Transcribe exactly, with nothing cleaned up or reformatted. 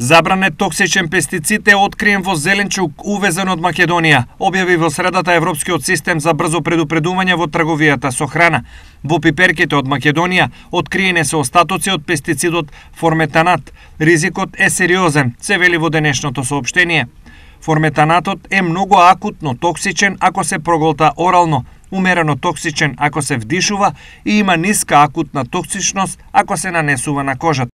Забранет токсичен пестицид е откриен во зеленчук увезен од Македонија, објави во средата Европскиот систем за брзо предупредување во трговијата со храна. Во пиперките од Македонија откриени се остатоци од пестицидот форметанат. Ризикот е сериозен, се вели во денешното соопштение. Форметанатот е многу акутно токсичен ако се проголта орално, умерено токсичен ако се вдишува и има ниска акутна токсичност ако се нанесува на кожата.